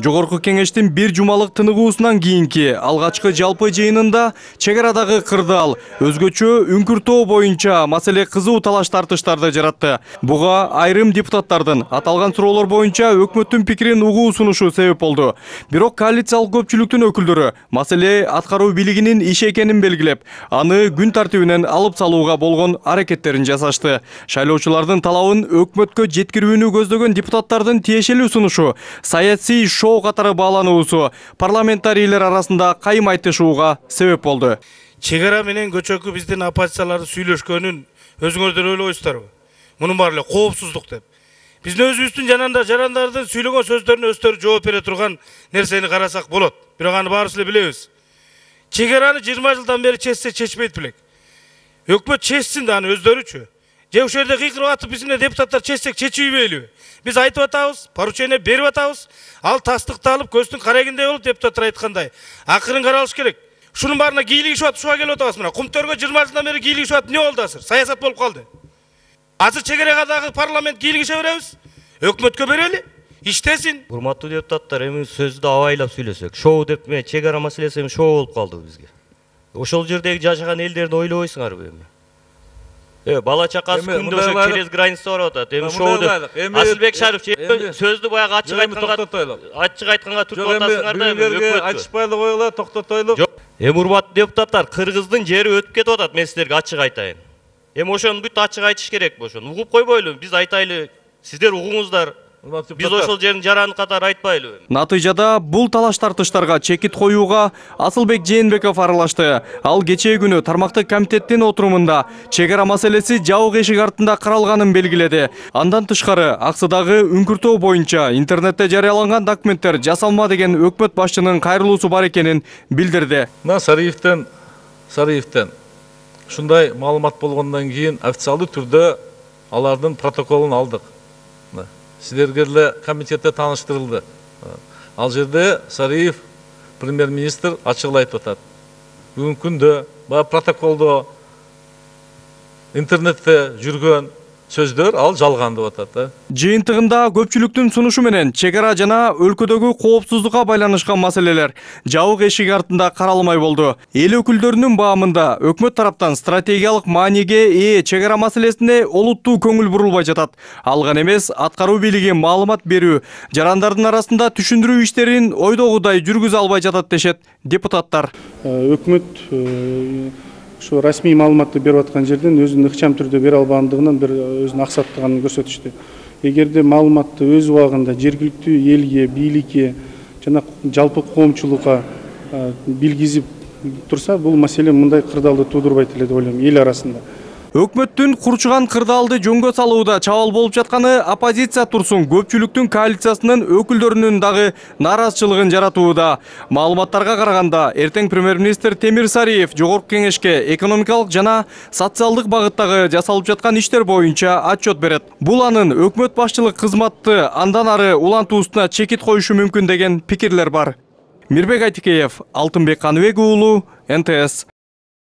Жогорку кеңештин бир жумалык тыныгуусунан кийинки алгачкы жалпы жыйынында чек арадагы кырдаал өзгөчө үңкүртөө боюнча маселе кызуу талаш тартыштарды жаратты. Буга айрым депутаттардын аталган суроолор боюнча өкмөттүн пикирин угуу сунушу себеп болду. Бирок коалициялык көпчүлүктүн өкүлдөрү маселе аткаруу бийлигинин иши экенин белгилеп, аны күн тартибинен алып салууга болгон аракеттерин жасашты. Шайлоочулардын талабын өкмөткө жеткирүүнү көздөгөн депутаттардын тиешелүү сунушу саясий шоу катары баалануусу парламентарийлер арасында кайым айтышууга себеп болду. Чек ара менен көчөкү биздин оппозициялардын сүйлөшкөнүн өзүңөрдөр ойлойсуздарбы? Мунун баары эле коопсуздук деп. Биздин өзүбүздүн жарандардын сүйлөгөн сөздөрүнө өздөрү жооп бере турган нерсени карасак болот. Бирок аны баарыбыз эле билебиз. Чек араны 20 жылдан бери чечсе чечпейт белек. Өкмөт чечсин да аны өздөрүчү. Же ошол жерде кыйкырып атып биз менен депутаттар чечсек чечүүбөйлүбү? Биз айтып атабыз, поручение берип атабыз. Ал тастыкталып, көздүн карагиндей болуп депутаттар айткандай. Акырын каралыш керек. Шунун баарына кийлигишип атып, ушуга келип атабыз мына. Кумтөргө 20 жылдан бери кийлигишип атып, эмне болду азыр? Саясат болуп калды. Азыр чек арагадагы парламент кийлигише беребиз. Өкмөткө берели. Иштесин. Урматтуу депутаттар, эми сөздү абайлап сүйлөсөк. Шоу деп эме чек ара маселеси эми шоу болуп калды бизге. Ошол жердеги жашаган элдерди ойлобойсуңарбы эми? Бала чакасы күндө через граница барып атат. Эми шоу деп. Асылбек Шарипов сөздү баягы ачык айтканга түртүп атасыңар да эми өкмөткө. Ачышпайлы койгула, токтотойлу. Эми урматтуу депутаттар, Кыргыздын жери өтүп кетип атат, мен силерге ачык айтайын. Эми ошону бүт ачык айтыш керек ошону. Угуп койбойлу, биз айтайлы, сиздер угуңуздар. Биз ошол жерин жараны катары айтпайлыбы? Натыйжада бул талаш тартыштарга чекит коюуга Асылбек Жээнбеков аралашты. Ал кечээ күнү тармактык комитеттин отурумунда чек ара маселеси жабык эшик артында каралганын белгиледи. Андан тышкары аксыдагы үңкүртөө боюнча интернетте жарыяланган документтер жасалма деген өкмөт башчынын кайрылуусу бар экенин билдирди. Сариевден ушундай маалымат болгондон кийин официалдуу түрдө алардын протоколун алдык. Силерге эле комитетте тааныштырылды. Ал жерде Сариев премьер-министр ачык айтып атат. Бүгүнкү күндө баягы протоколдо интернетте жүргөн сөздөр ал жалган деп атат. Жыйынтыгында көпчүлүктүн сунушу менен чек ара жана өлкөдөгү коопсуздукка байланышкан маселелер жабык эшик артында каралмай болду. Эл өкүлдөрүнүн баамында өкмөт тараптан стратегиялык мааниге ээ чек ара маселесине олуттуу көңүл бурулбай жатат. Алган эмес, аткаруу бийлиги маалымат берүү, жарандардын арасында түшүндүрүү иштерин ойдогудай жүргүзө албай жатат дешет депутаттар. Өкмөт şu rasmi маалыматты берип аткан жерден өзүнүн ыкчам түрдө бере албагандыгынан бир өзүнүн аксаттыгын көрсөтүштү. Эгерде маалыматты өз убагында жергиликтүү элге, бийликке жана жалпы коомчулукка билгизип турса, бул маселе мындай кырдаалды туудурбайт эле деп ойлойм эл арасында. Өкмөттүн курчуган кырдаалды жөнгө салууда чабал болуп жатканы оппозиция турсун коопчүлүктүн коалициясынын өкүлдөрүнүн дагы нааразычылыгын жаратууда. Маалыматтарга караганда, эртең премьер-министр Темир Сариев Жогорку кеңешке экономикалык жана социалдык багыттагы жасалып жаткан иштер боюнча отчет берет. Бул анын өкмөт башчылык кызматты андан ары улантуусуна чекит коюшу мүмкүн деген пикирлер бар. Мирбек Айтикеев, Алтынбек Каныбек уулу, НТС.